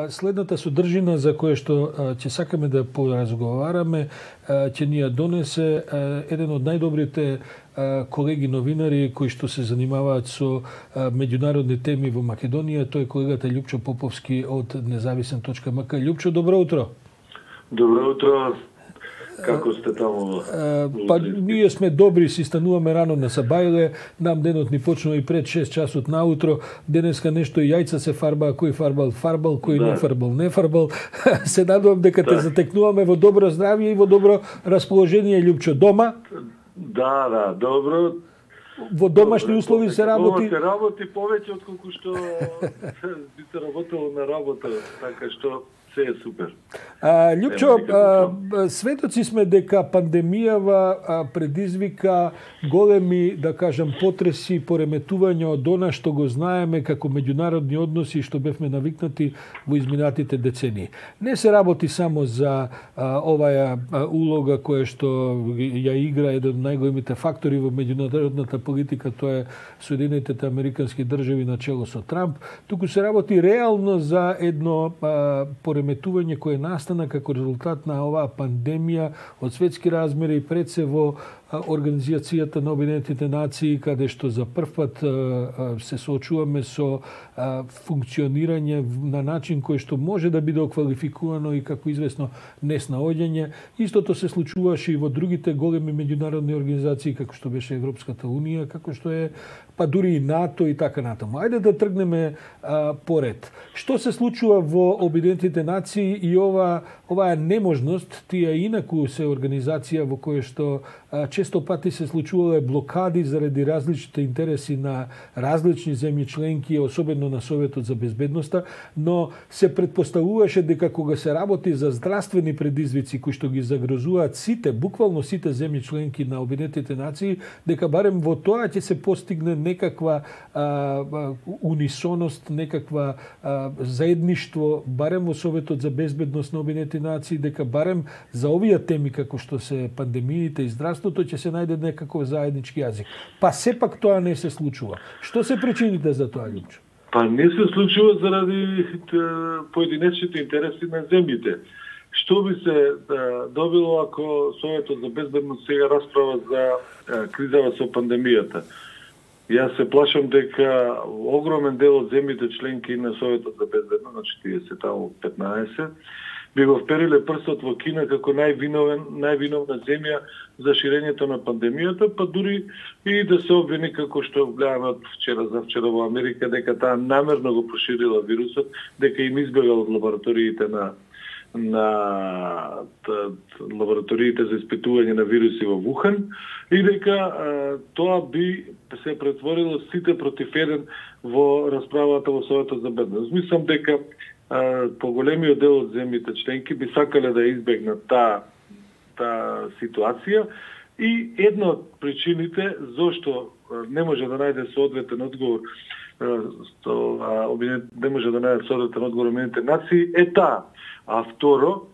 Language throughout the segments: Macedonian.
следната содржина за која што ќе сакаме да поразговараме, ќе ни ја донесе еден од најдобрите колеги новинари кои што се занимаваат со меѓународни теми во Македонија, тој е колегата Љупчо Поповски од Независен.мк. Љупчо, добро утро. Добро утро. Како сте таму? Ние сме добри, си стануваме рано на Сабајле, нам денот ни почнува и пред 6 часот наутро. Денеска нешто и јајца се фарба, кој фарбал, кој не фарбал. Се надувам дека те затекнуваме во добро здравје и во добро расположение, Љупчо. Дома? Да, добро. Во домашни услови се работи? Дома се работи повеќе отколку што би се работело на работа, така што се е супер. Љупчо, светоци сме дека пандемијава предизвика големи, да кажам, потреси, пореметувања од она што го знаеме како меѓународни односи што бевме навикнати во изминатите децении. Не се работи само за оваа улога која што ја игра еден од најголемите фактори во меѓународната политика, тоа е Соединетите Американски држави на чело со Трамп, туку се работи реално за едно пореметување кое настана како резултат на оваа пандемија од светски размери и пред се во Организацијата на Обединетите нации, каде што за прв пат се соочуваме со функционирање на начин кој што може да биде оквалификувано и како известно неснаоѓање. Истото се случуваше и во другите големи меѓународни организации, како што беше Европската унија, како што е па дури и НАТО и така натаму. Ајде да тргнеме поред. Што се случува во Обединетите нации и оваа неможност, тие инаку се организација во која што често пати се случувале блокади заради различните интереси на различни земји членки, особено на Советот за безбедноста, но се предпоставуваше дека кога се работи за здравствени предизвици кои што ги загрозуваат сите, буквално сите земји членки на Обединетите нации, дека барем во тоа ќе се постигне некаква унисоност, некаква заедништво, барем во Советот за безбедност на Обединетите нации, дека барем за овие теми како што се пандемиите и здравството ќе се најде некаков заеднички јазик. Па сепак тоа не се случува. Што се причините за тоа, Љупчо? Па не се случува заради поединечните интереси на земјите. Што би се добило ако Советот за безбедност сега расправа за кризава со пандемијата? Јас се плашам дека огромен дел од земјите членки на Советот за безбедност, значи тие се таму 15, би го впериле прстот во Кина како највиновна земја за ширењето на пандемијата, па дури и да се обвини како што гледаме од вчера за вчера во Америка, дека таа намерно го проширила вирусот, дека им избегал од лабораториите на лабораториите за испитување на вируси во Вухан и дека тоа би се претворило сите против еден во расправата во Советот за безбедност. Мислам дека поголемиот дел од земјите членки би сакале да избегнат таа ситуација и една од причините зошто не може да најде соодветен одговор не може да најде соодветен одговор Обединетите нации е таа. А второ,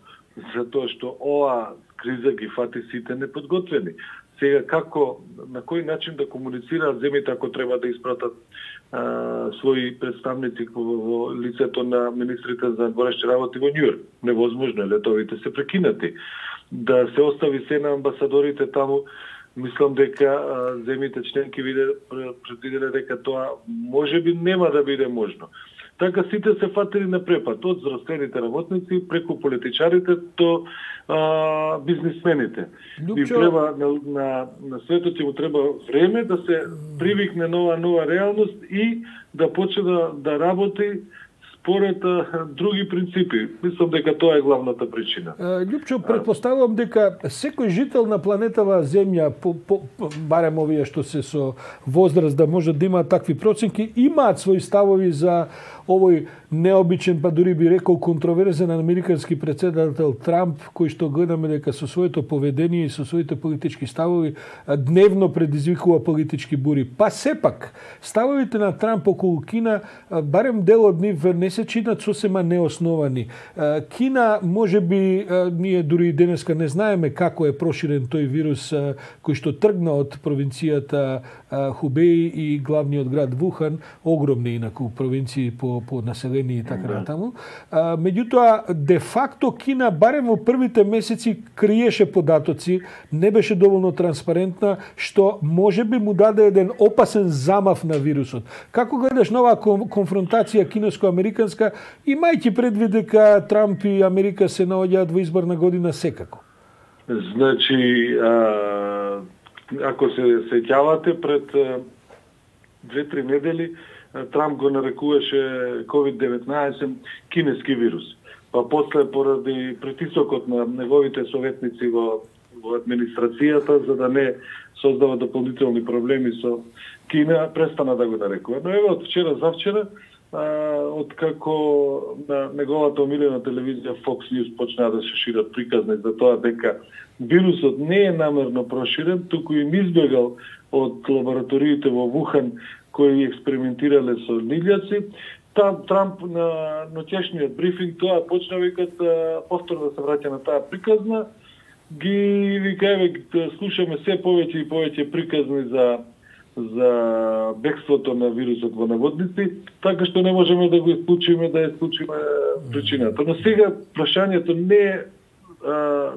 затоа што оваа криза ги фати сите неподготвени. Сега како, на кој начин да комуницираат земјите ако треба да испратат своји представници во лицето на министрите за надворешни работи во Њујорк? Невозможно е, летовите се прекинати. Да се остави се на амбасадорите таму, мислам дека земјите членки предвиделе дека тоа можеби нема да биде можно. Така сите се фатили на препад, од здравствените работници, преку политичарите до бизнисмените. И треба на светот му треба време да се привикне нова реалност и да почне да работи според други принципи. Мислам дека тоа е главната причина. Љупчо, претпоставувам дека секој жител на планетава Земја, барем овие што се со возраст да можат да имаат такви проценки, имаат своји ставови за овој необичен, па дури би рекол контроверзен американски председател Трамп, кој што гледаме дека со своето поведение и со своите политички ставови дневно предизвикува политички бури. Па сепак, ставовите на Трамп околу Кина, барем дел од нив не се чинат сосема неосновани. Кина, може би, ние дури денеска не знаеме како е проширен тој вирус кој што тргна од провинцијата Хубеј и главниот град Вухан, огромни инаку провинции по население и така натаму. Меѓутоа, де факто Кина барем во првите месеци криеше податоци, не беше доволно транспарентна, што можеби му даде еден опасен замав на вирусот. Како гледаш нова конфронтација кинеско-американска, имајќи предвид дека Трамп и Америка се наоѓаат во изборна година секако? Значи, ако се сеќавате, пред 2-3 недели Трамп го нарекуваше COVID-19 кинески вирус. Па после, поради притисокот на неговите советници во администрацијата, за да не создава дополнителни проблеми со Кина, престана да го нарекува. Но еве, од вчера завчера, откако на неговата омилена телевизија Fox News почнаа да се шират приказни за тоа дека вирусот не е намерно проширен, туку им избегал од лабораториите во Вухан кои експериментирале со лилјаци, Трамп на ноќешниот брифинг тоа почна викат повторно да се враќа на таа приказна, ги вика еве слушаме се повеќе и повеќе приказни за бегството на вирусот во наводници, така што не можеме да го исклучиме, причината. Но сега прашањето не е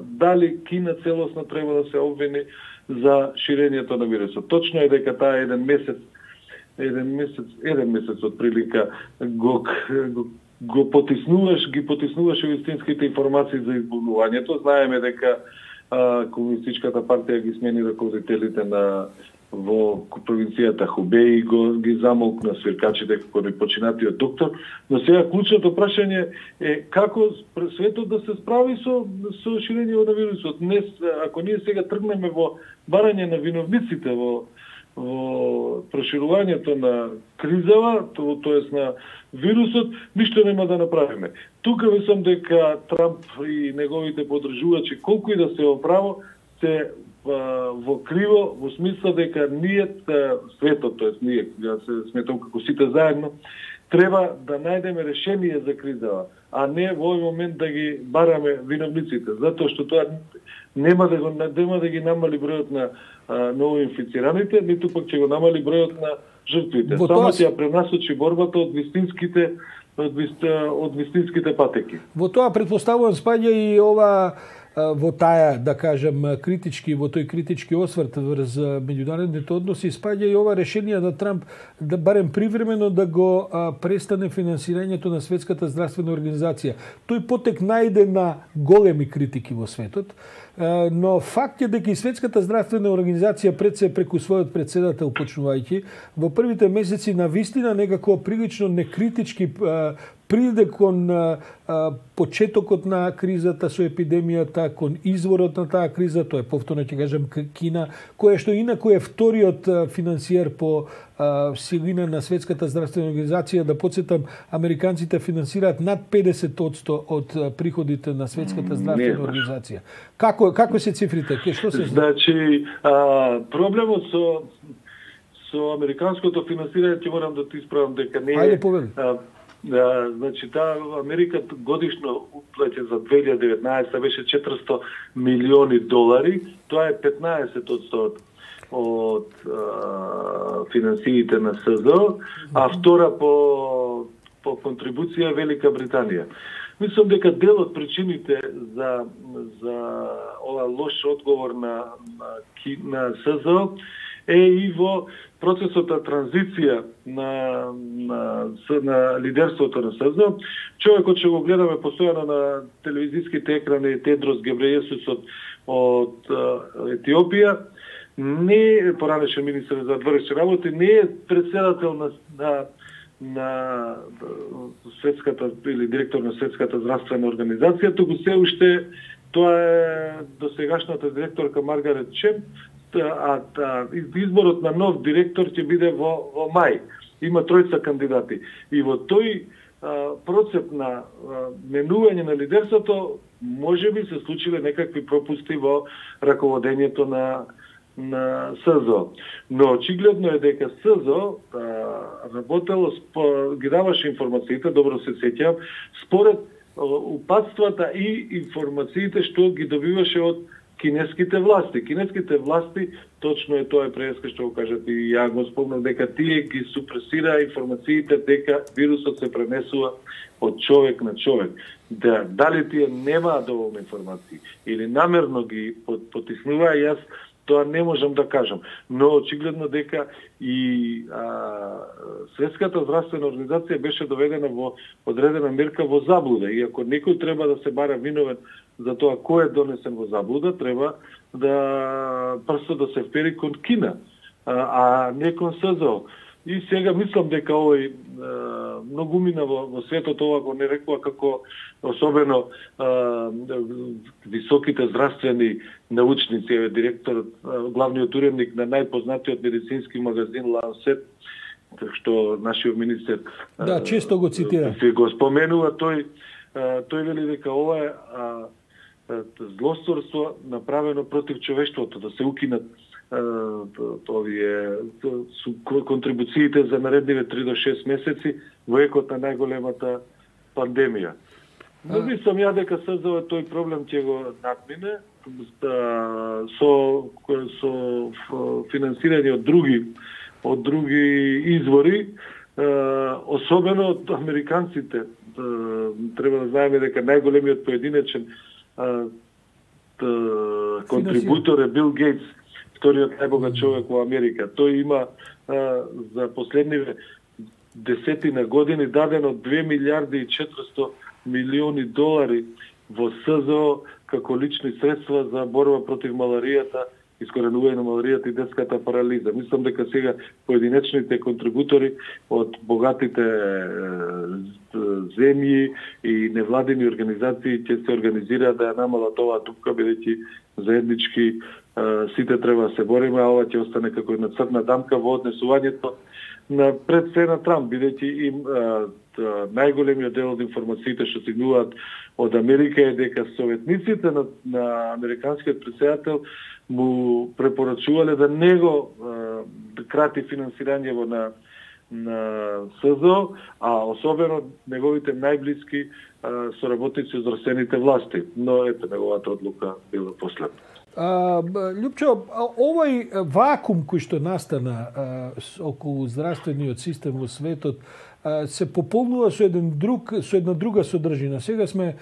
дали Кина целосно треба да се обвини за ширењето на вирусот. Точно е дека таа еден месец од прилика ги потиснуваше вистинските информации за избунувањето. Знаеме дека Комунистичката партија ги смени раководителите во провинцијата Хубеј, ги замолкна свиркачите како непочинатиот доктор, но сега клучното прашање е како светот да се справи со ширење на вирусот. Ако ние сега тргнеме во барање на виновниците во проширувањето на кризава, тоест на вирусот, ништо нема да направиме. Тука мислам дека Трамп и неговите поддржувачи, колку и да се оправо, се во криво, во смисла дека ние, светот, тоест ние, ја се сметам како сите заедно, треба да најдеме решение за кризава, а не во овој момент да ги бараме виновниците, затоа што тоа нема да ги намали бројот на новоинфицираните, ниту пак ќе го намали бројот на жртвите. Само ќе ја пренасочи борбата од вистинските патеки. Во тоа претпоставувам спаѓа и ова во таја, да кажем, во тој критички осврт врз меѓународните односи, спаѓа и ова решение на Трамп да барем привремено да го престане финансирањето на Светската здравствена организација. Тој потек најде на големи критики во светот, но факт е дека и Светската здравствена организација преку својот председател почнувајќи во првите месеци на вистина некако прилично некритички приде кон почетокот на кризата со епидемијата, кон изворот на таа криза, тоа е повторно ќе кажем Кина, која што инаку е вториот финансиер по силина на Светската здравствена организација. Да подсетам, американците финансираат над 50% од приходите на Светската здравствена организација. Како се цифрите? Што се значи, проблемот со американското финансирање, ќе морам да ти исправам дека не е. Значи, Америка годишно уплаќа за 2019 беше $400 милиони, тоа е 15% од финансиите на СЗО, а втора по контрибуција Велика Британија. Мислам дека дел од причините за ова лош одговор на СЗО е и во процесот на транзиција на лидерството на СЗО. Човекот што го гледаме постојано на телевизиските екрани, Тедрос Гебрејесус од Етиопија, не е поранешен министер за вътрешни работи, не е председател на светската или директор на Светската здравствена организација, туку се уште тоа е досегашната директорка Маргарет Чен, а изборот на нов директор ќе биде во мај. Има 3 кандидати. И во тој процеп на менување на лидерството можеби се случиле некакви пропусти во раководењето на СЗО. Но очигледно е дека СЗО работело, ги даваше информациите, добро се сеќавам, според упатствата и информациите што ги добиваше од кинеските власти. Кинеските власти, точно е тоа преска што го кажат и ја го спомнав, дека тие ги супресира информациите дека вирусот се пренесува од човек на човек. Дали тие немаат доволно информации или намерно ги потиснува, јас тоа не можам да кажам. Но очигледно дека и Светската здравствена организација беше доведена во одредена мерка во заблуда. И ако некој треба да се бара виновен за тоа кој е донесен во заблуда, треба да прсто да се впери кон Кина, а не кон СЗО. И сега мислам дека овој многу мина во светот, ова го не рекува како особено високите здравствени научници, директорот, главниот уредник на најпознатиот медицински магазин Lancet, што нашиот министер често го цитира. Го споменува, тој вели дека ова е злосторство направено против човештвото, да се укинат овие контрибуциите за наредниве 3 до 6 месеци во екот на најголемата пандемија. Но мислам ја дека СЗО тој проблем ќе го надмине со финансирање од други извори, особено од американците. Треба да знаеме дека најголемиот поединечен контрибутор е Бил Гейтс, вториот најбогат човек во Америка. Тој има за последниве десетина години дадено 2 милиарди и 400 милиони долари во СЗО како лични средства за борба против маларијата, искоренување на маларијата и детската парализа. Мислам дека сега поединечните контрибутори од богатите земји и невладини организации ќе се организираат да ја намалат оваа дупка, бидејќи заеднички сите треба да се бориме, а ова ќе остане како една црна дамка во однесувањето на пред се на Трамп, бидејќи им најголемиот дел од информациите што стигнуваат од Америка е дека советниците на американскиот претседател му препорачувале да не го крати финансирање на СЗО, а особено неговите најблиски соработници од здравствените власти. Но ето, неговата одлука била последна. Љупчо, овој вакуум кој што настана околу здравствениот систем во светот се пополнува со една друга содржина. Сега сме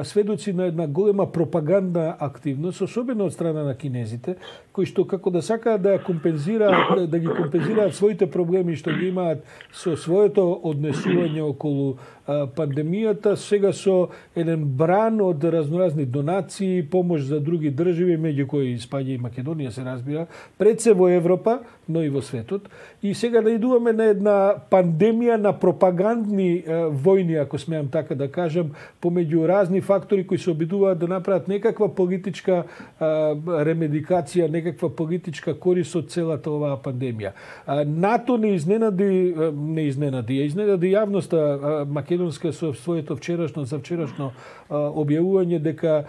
сведоци на една голема пропагандна активност, особено од страна на кинезите, кои што како да сакаат да ги компензираат своите проблеми што ги имаат со своето однесување околу пандемијата, сега со еден бран од разноразни донации, помош за други држави, меѓу кои спаѓа и Македонија, се разбира, пред се во Европа, но и во светот. И сега наидуваме на една пандемија на пропагандни војни, ако смеам така да кажам, помеѓу разни фактори кои се обидуваат да направат некаква политичка ремедикација, некаква политичка корист од целата оваа пандемија. НАТО не изненади јавноста македонска со своето завчерашно објавување дека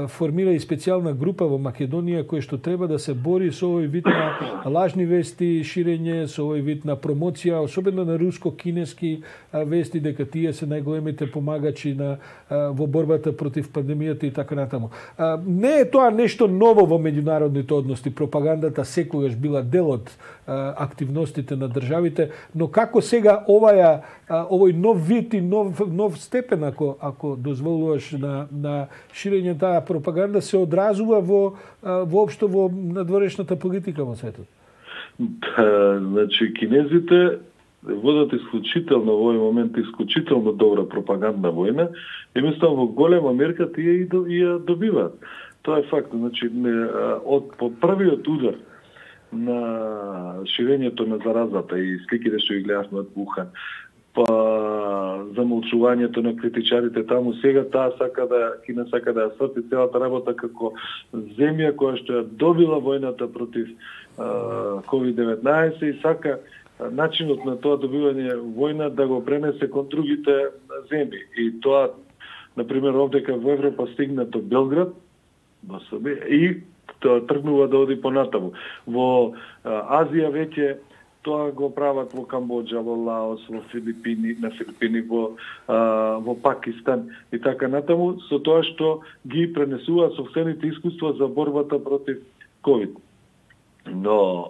формира и специјална група во Македонија која што треба да се бори со овој вид на лажни вести, ширење, со овој вид на промоција, особено на руско-кинески вести, дека тие се најголемите помагачи во борбата против пандемијата и така натаму. Не е тоа нешто ново во меѓународните односи. Пропагандата секогаш била дел од активностите на државите, но како сега овој нов вид и нов степен, ако дозволуваш на ширење таа пропаганда, се одразува воопшто во надворешната политика во светот? Значи, кинезите водат исклучително во овој момент исклучително добра пропагандна војна и мислам во голема мерка тие и ја добиваат. Тоа е факт. Значи, по првиот удар на ширењето на заразата и сликите што ги гледавме од Вухан, па замолчувањето на критичарите таму, сега Кина сака да ја сврти целата работа како земја која што ја добила војната против COVID-19 и сака начинот на тоа добивање војна да го пренесе кон другите земји. И тоа, например, овдека во Европа стигна до Белград, во Србија, и тоа тргнува да оди понатаму. Во Азија веќе тоа го прават во Камбоџа, во Лаос, во Филипини, на Филипини, во Пакистан и така натаму, со тоа што ги пренесуваат сопствените искуства за борбата против ковид. Но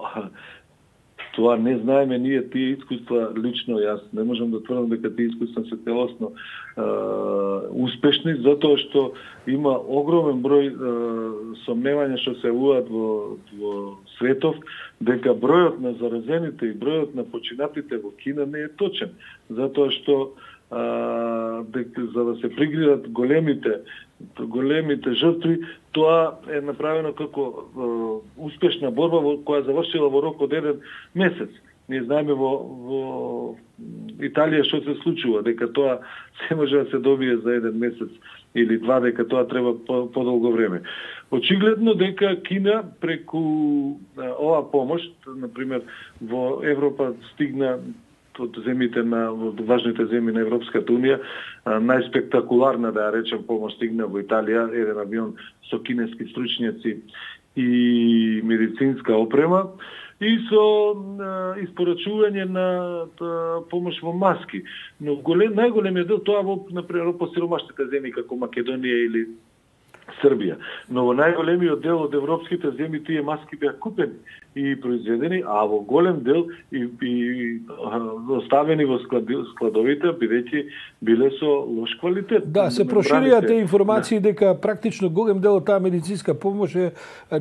тоа не знаеме ние тие искуства лично, јас не можам да тврдам дека тие искуства се целосно успешни, затоа што има огромен број сомневања што се уат во светов, дека бројот на заразените и бројот на починатите во Кина не е точен, затоа што за да се пригридат големите жртви, тоа е направено како успешна борба која завршила во рок од 1 месец. Ние знаеме во Италија што се случува, дека тоа се може да се добие за 1 месец или 2, дека тоа треба подолго време. Очигледно дека Кина преку оваа помош, например во Европа стигна од земите на важните земји на Европската унија, најспектакуларна, да ја речем, помош стигна во Италија, еден авион со кинески стручњаци и медицинска опрема и со испорачување на помош во маски. Но најголемиот дел тоа во, например, по сиромашните земји како Македонија или Србија. Но во најголемиот дел од европските земји тие маски беа купени и произведени, а во голем дел и оставени во складовите, бидејќи биле со лош квалитет. Да, се проширија те информации дека практично голем дел од таа медицинска помош е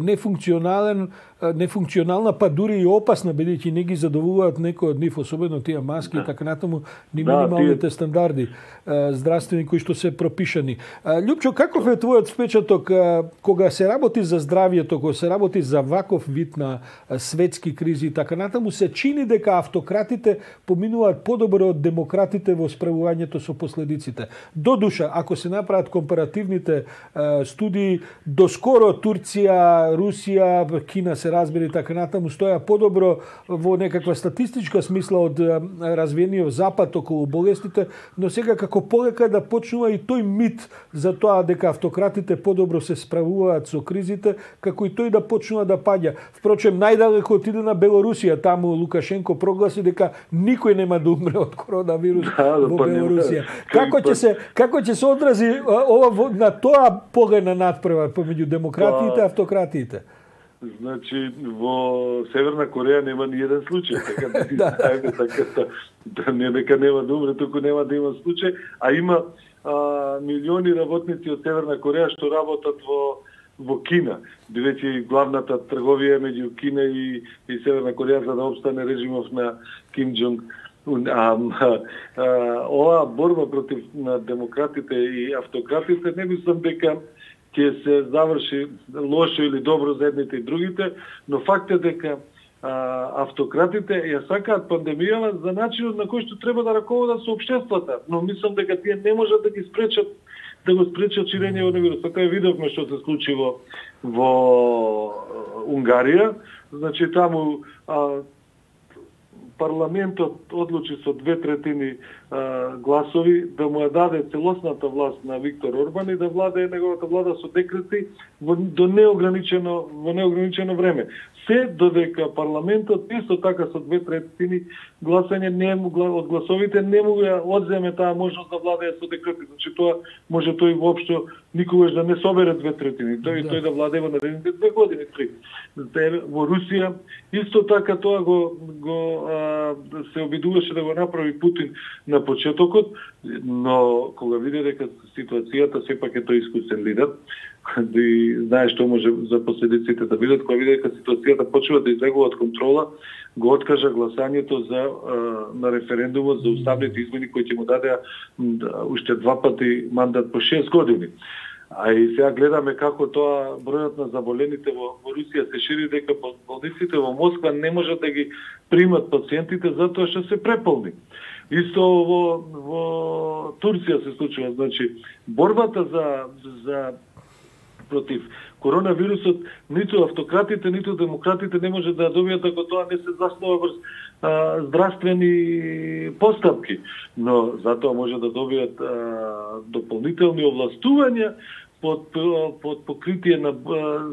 нефункционална, па дури и опасна, бидејќи не ги задоволуваат некои од нив, особено тие маски и така натаму, минималните стандарди здравствени кои што се пропишани. Љупчо, каков е твојот впечаток кога се работи за здравјето, кога се работи за ваков вид на светски кризи и така натаму, се чини дека автократите поминуваат подобро од демократите во справувањето со последиците. Додуша, ако се направат компаративните студии, доскоро Турција, Русија, Кина се разбери така натаму, стоја подобро во некаква статистичка смисла од развиениот запад околу болестите, но сега како полека да почнува и тој мит за тоа дека автократите подобро се справуваат со кризите, како и тој да почнува да паѓа. Впрочем, најдалеко отиде на Белорусија, таму Лукашенко прогласи дека никој нема да умре од коронавирус во Белорусија. Како ќе се одрази ова на тоа погледна надпревар помеѓу демократиите и автократиите? Значи, во Северна Кореја нема ни еден случај, така не дека нема да умре, туку нема да има случај, а има милиони работници од Северна Кореја што работат во Кина, бидејќи главната трговија меѓу Кина и Северна Кореја за да обстане режимов на Ким Џонг Ун. Оваа борба против на демократите и автократите не мислам дека ќе се заврши лошо или добро за едните и другите, но факт е дека автократите ја сакаат пандемијава за начинот на кој што треба да раководат со општествата, но мислам дека тие не можат да ги спречат да го спречат ширење на вирусот. Така видовме што се случи во Унгарија, значи таму парламентот одлучи со 2/3 гласови да му ја даде целосната власт на Виктор Орбан и да владее неговата влада со декрети во неограничено време. Се додека парламентот исто така со 2/3 гласање од гласовите не му ја одземе таа можност да владее со декрети. Значи тоа може тој воопшто никогаш да не собере 2/3. Тој да владее во наредните 2 години, 3. Во Русија исто така тоа го се обидуваше да го направи Путин на почетокот, но кога види дека ситуацијата сепак е тој искусен лидер, и знае што може за последиците да видат, кога види дека ситуацијата почува да излегува од контрола, го откажа гласањето на референдумот за уставните измени кои ќе му дадеа уште 2 пати мандат по 6 години. А и сега гледаме како тоа бројот на заболените во Русија се шири, дека болниците во Москва не можат да ги примат пациентите затоа што се преполни. Исто во Турција се случува, значи борбата за против коронавирусот ниту автократите, ниту демократите не може да добијат ако тоа не се заснова врз здравствени постапки, но затоа може да добијат дополнителни овластувања под покритие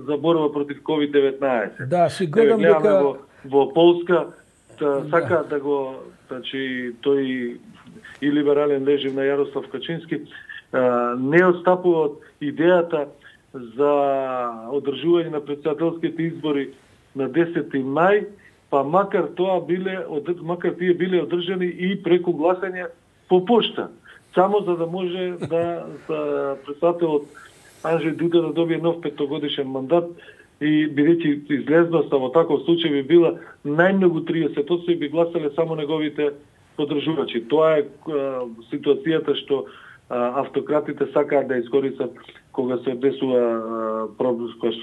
за борба против COVID-19. Да, си гледам дека во Полска сака да го, значи тој и либерален режим на Јарослав Качински не отстапува од идејата за одржување на претседателските избори на 10 мај, па макар тие биле одржани и преку гласање по пошта, само за да може да претседателот Анџеј Дуда да добие нов 5-годишен мандат и бидејќи излезноста во таков случај би била најмногу 30%, и би гласале само неговите поддржувачи. Тоа е ситуацијата што автократите сакаат да искористат кога се однесува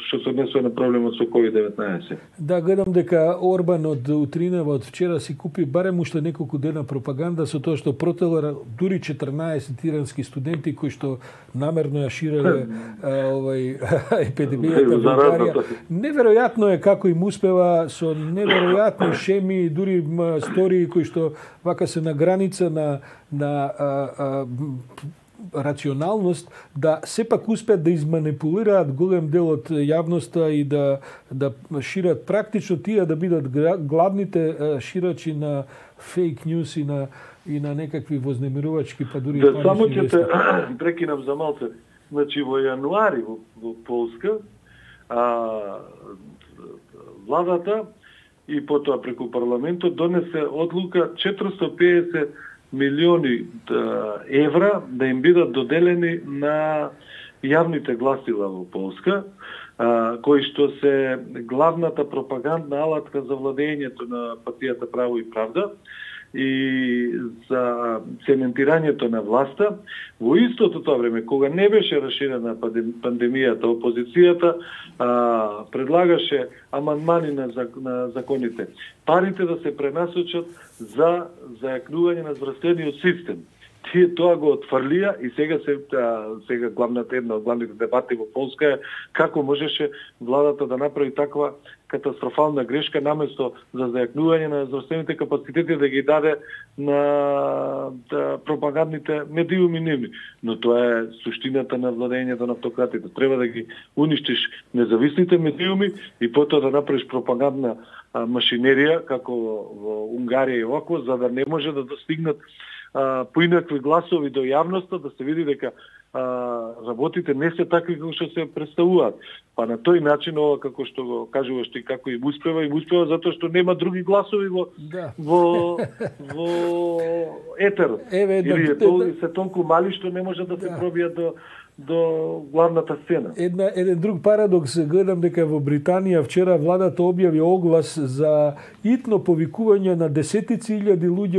што се однесува на проблемот со COVID-19. Да, гледам дека Орбан од утринава, од вчера си купи барем уште неколку дена пропаганда со тоа што протела дури 14 ирански студенти кои што намерно ја ширеле епидемијата во Унгарија. Неверојатно е како им успева со неверојатни шеми, дури стории кои што вака се на граница на рационалност, да сепак успеат да изманипулираат голем дел од јавноста и да шират практично тие да бидат главните ширачи на фейк ньюс и на некакви вознемирувачки, па дури да, само ќе те прекинам за малце. Значи во јануари во Полска владата и потоа преку парламентот донесе одлука 450 милиони евра да им бидат доделени на јавните гласила во Полска, кои што се главната пропагандна алатка за владењето на партијата Право и правда и за цементирањето на власта. Во истото тоа време, кога не беше расширена пандемијата, опозицијата предлагаше амандмани на законите. Парите да се пренасочат за зајакнување на здравствениот систем. Тие тоа го отфрлија и сега една од главните дебати во Полска е како можеше владата да направи таква катастрофална грешка, наместо за зајакнување на здравствените капацитети да ги даде на пропагандните медиуми нивни. Но тоа е суштината на владењето на автократите. Треба да ги уништиш независните медиуми и потоа да направиш пропагандна машинерија, како во Унгарија и овако, за да не може да достигнат поинакви гласови до јавноста, да се види дека работите не се такви како што се представуваат. Па на тој начин, ова како што го кажуваш ти, како им успева затоа што нема други гласови во етерот. Или се толку мали што не може да се пробијат до главната сцена. Еден друг парадокс, гледам дека во Британија вчера владата објави оглас за итно повикување на десетици илјади луѓе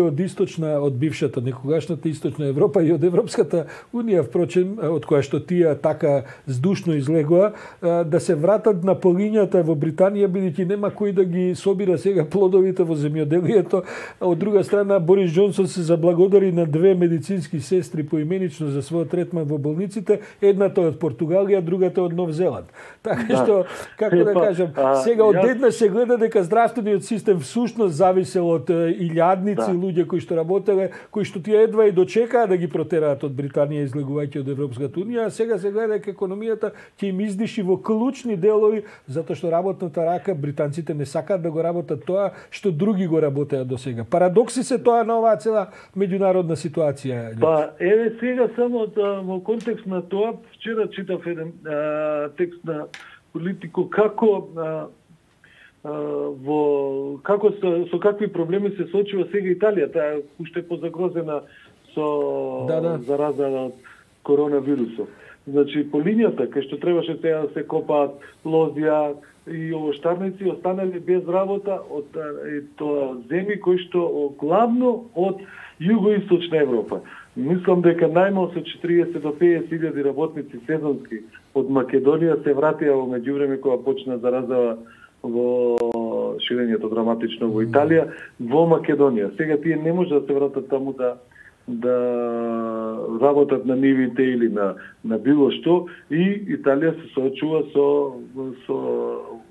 од бившата, некогашната Источна Европа и од Европската Унија, впрочем, од која што тие така здушно излегоа, да се вратат на полињата во Британија, бидејќи нема кој да ги собира сега плодовите во земјоделието. Од друга страна, Борис Џонсон се заблагодари на 2 медицински сестри поименично за својот третман во болниците. Едната од Португалија, другата од Нов Зеланд. Така што, како да кажам, сега одеднаш се гледа дека здравствениот систем всушност зависел од илјадници луѓе кои што работеле, кои што тие едва и дочекаа да ги протераат од Британија излегувајќи од Европската Унија, а сега се гледа дека економијата ќе им издиши во клучни делови, затоа што работната рака британците не сакаат да го работат тоа што други го работеа до сега. Парадокси се тоа на оваа цела меѓународна ситуација. Па, еве сега само во контекст на тоа, вчера читав еден текст на Политико како со какви проблеми се соочува сега Италија. Таа уште позагрозена со зараза од коронавирусот. Значи, по линијата кај што требаше сега да се копаат лозија и овоштарници, останали без работа од тоа земји кои што главно од југоисточна Европа. Мислам дека најмалку со 40 до 50 илјади работници сезонски од Македонија се вратија во меѓувреме кога почна заразава во ширењето драматично во Италија, во Македонија. Сега тие не може да се вратат таму да работат на нивите или на било што, и Италија се соочува со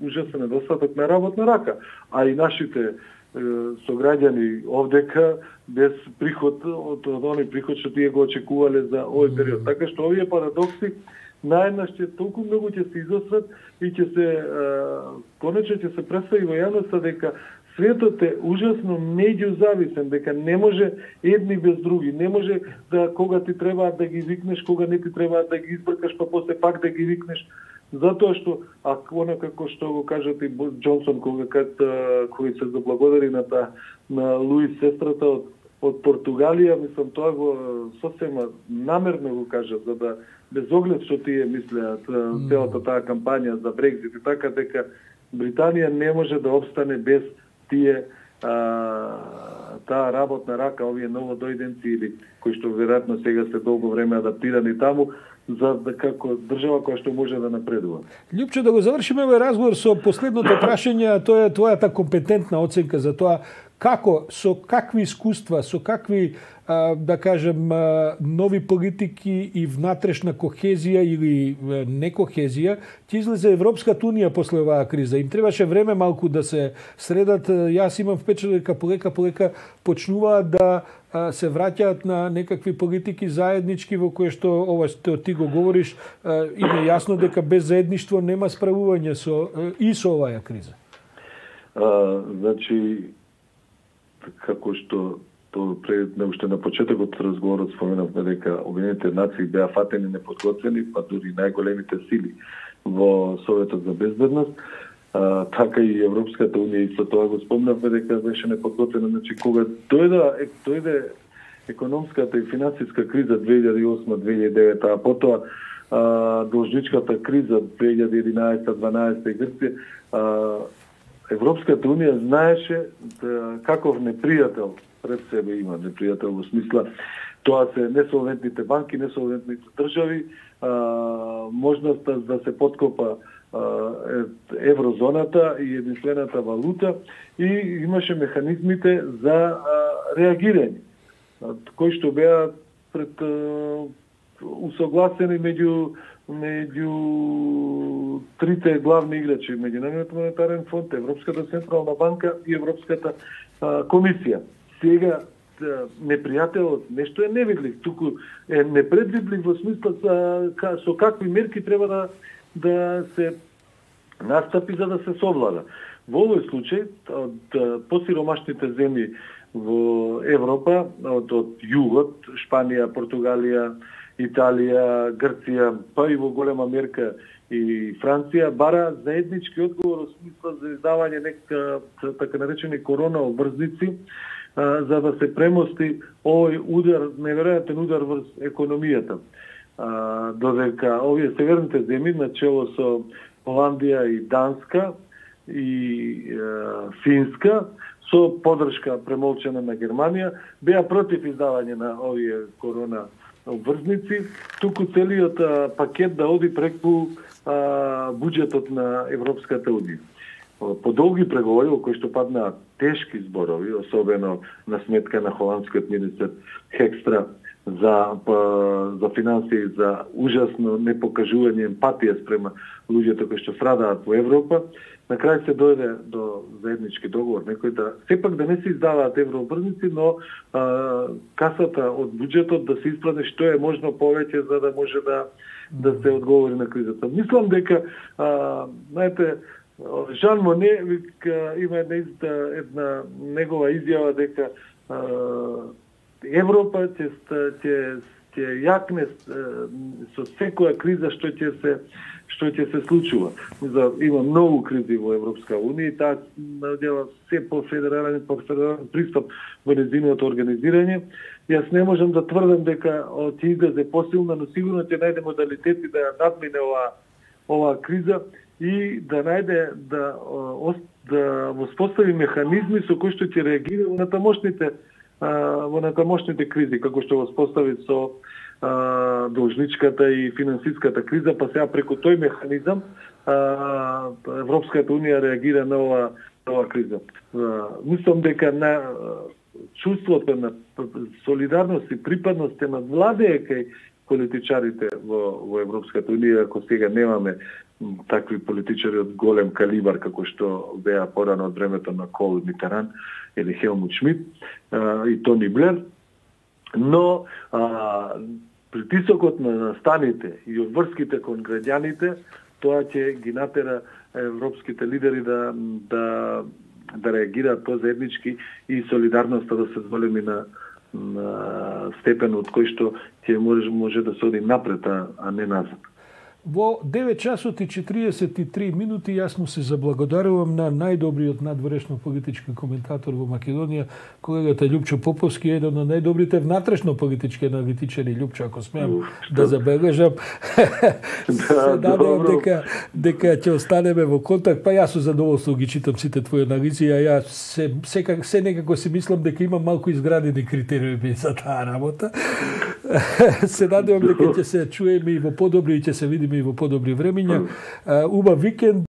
ужасен недостаток на работна рака. А и нашите сограѓани овдека без приход од оној приход што тие го очекувале за овој период. Така што овие парадокси наеднаш ќе толку многу ќе се изострат и ќе се конечно ќе се представи во јавноста дека Светот е ужасно меѓузависен, дека не може едни без други. Не може да кога ти треба да ги викнеш, кога не ти треба да ги избркаш, па после пак да ги викнеш. Затоа што, како што го кажат и Џонсон, кога се заблагодари на Луис, сестрата од Португалија, мислам, тоа го сосема намерно го кажа, за да без оглед што тие мислеат целата таа кампања за Брекзит и така, дека Британија не може да обстане без тие таа работна рака, овие новодојденци или кои што веројатно сега се долго време адаптирани таму, за да како држава која што може да напредува. Љупчо, да го завршиме овој разговор со последното прашање, тоа е твојата компетентна оценка за тоа како, со какви искуства, со какви, да кажем, нови политики и внатрешна кохезија или некохезија, ќе излезе Европската унија после оваа криза. Им требаше време малку да се средат. Јас имам впечатление дека полека почнуваат да се враќаат на некакви политики заеднички во кои што ова што ти го говориш, им е јасно дека без заедништво нема справување со оваа криза. Значи, како што пред уште на почетокот разговорот споменавме дека Обединетите нации беа фатени неподготвени, па дури најголемите сили во Советот за безбедност, така и Европската унија исто тоа го спомнавме дека беше неподготвена. Значи, кога дојде економската и финансиска криза 2008-2009, а потоа должничката криза 2011-2012 и Грција, Европската унија знаеше каков непријател пред себе има. Непријател во смисла, тоа се несолвентните банки, несолвентните држави, можноста да се подкопа еврозоната и единствената валута, и имаше механизмите за реагирање, кои што беа пред усогласени меѓу трите главни играчи, Меѓународниот монетарен фонд, Европската централна банка и Европската комисија. Сега непријателот нешто е невидлив, туку е непредвидлив во смисла со какви мерки треба да се настапи за да се совлада. Во овој случај, од посиромашните земји во Европа, од југот, Шпанија, Португалија, Италија, Грција, па и во голема мерка и Франција, бара заеднички одговор во смисла за издавање нека така наречени корона обврзници, за да се премости овој удар, неверојатен удар врз економијата. Додека овие северните земји, начело со Холандија и Данска и Финска, со подршка премолчена на Германија, беа против издавање на овие корона обврзници, туку целиот пакет да оди преку буџетот на Европската унија. По долги преговори, во кои што паднаа тешки зборови, особено на сметка на холандскиот министер Хекстра за финансии, за ужасно непокажување емпатија спрема луѓето кои што страдаат во Европа, на крај се дојде до заеднички договор, некој сепак да не се издаваат еврообврзници, но касата од буџетот да се испрати што е можно повеќе за да може да се одговори на кризата. Мислам дека знаете, Жан Моне има една негова изјава дека Европа ќе јакне со секоја криза што ќе се случува. Има многу кризи во Европска унија и таа надела се по федерален пристап во нејзиното организирање. Јас не можам да тврдам дека ќе излезе посилна, но сигурно ќе најде модалитети да ја надмине оваа криза и да најде да воспостави механизми со кои што ќе реагира во натамошните кризи, како што воспостави со должничката и финансиската криза, па сега преку тој механизам Европската унија реагира на оваа криза. Мислам дека на чувството на солидарност и припадност на владее кај политичарите во Европската унија, ако сега немаме такви политичари од голем калибар како што беа порано од времето на Кол Митеран или Хелмут Шмидт и Тони Блер, но притисокот на станите и врските кон граѓаните, тоа ќе ги натера европските лидери да да реагираат позаеднички и солидарноста да се зголеми на степен од кој што ќе може да се оди напред, а не назад. Во 9 часот и 43 минути јас му се заблагодарувам на најдобриот надворешно политички коментатор во Македонија, колегата Љупчо Поповски, еден од најдобрите внатрешно политички аналитичари. Љупчо, ако смеам да забележам, се надевам дека ќе останеме во контакт, па јас со задоволство ги читам сите твои анализи, а јас се некако си мислам дека имам малку изградени критериуми за таа работа. Се надевам дека ќе се чуеме и во подобри и ќе се видиме и во подобри времиња. Убав викенд.